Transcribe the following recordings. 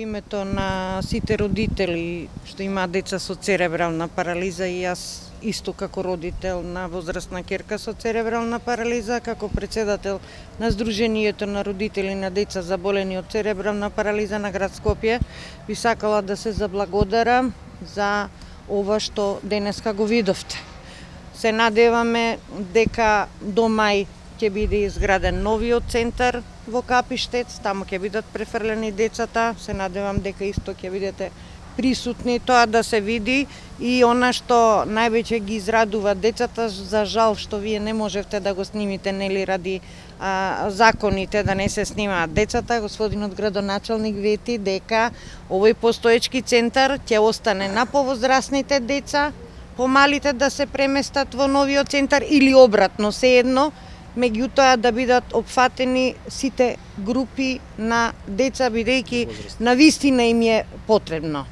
името на сите родители што имаат деца со церебрална парализа и јас исто како родител на возрастна ќерка со церебрална парализа, како претседател на Сдруженијето на родители на деца заболени од церебрална парализа на град Скопје, би сакала да се заблагодарам за ова што денеска го видовте. Се надеваме дека до мај ќе биде изграден новиот центар во Капиштец, таму ќе бидат префрлени децата, се надевам дека исто ќе бидете присутни тоа да се види и она што највеќе ги израдува децата, за жал што вие не можевте да го снимите, нели ради законите да не се снимаат децата. Господинот градоначалник вети дека овој постоечки центар ќе остане на повозрасните деца, помалите да се преместат во новиот центар или обратно, сеедно, меѓутоа да бидат опфатени сите групи на деца, бидејќи навистина им е потребно.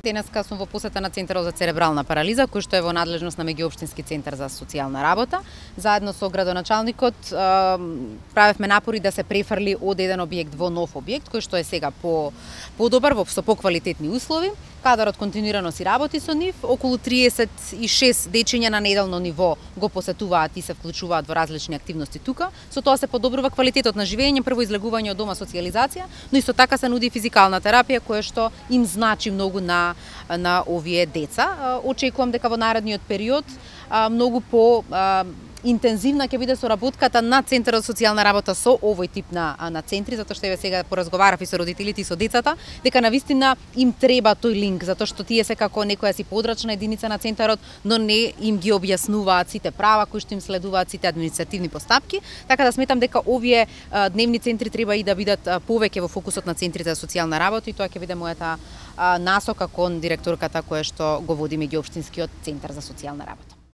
Денеска сум во посета на Центарот за церебрална парализа, кој што е во надлежност на Меѓуопштински центар за социјална работа. Заедно со градоначалникот правевме напори да се префрли од еден објект во нов објект, кој што е сега подобар, со поквалитетни услови. Кадарот континуирано си работи со нив, околу 36 дечиња на неделно ниво го посетуваат и се вклучуваат во различни активности тука. Со тоа се подобрува квалитетот на живење, прво излегување од дома, социјализација, но исто така се нуди физикална терапија која што им значи многу на овие деца. Очекувам дека во наредниот период многу по интензивна ќе биде соработката на Центарот за социјална работа со овој тип на центри, затоа што еве сега поразговарав и со родителите и со децата, дека навистина им треба тој линк, затоа што тие се како некоја си подрачна единица на центарот, но не им ги објаснуваат сите права кои што им следуваат, сите административни постапки, така да сметам дека овие дневни центри треба и да бидат повеќе во фокусот на центрите за социјална работа и тоа ќе биде мојата насока кон директорката која што го води Меѓуопштинскиот центар за социјална работа.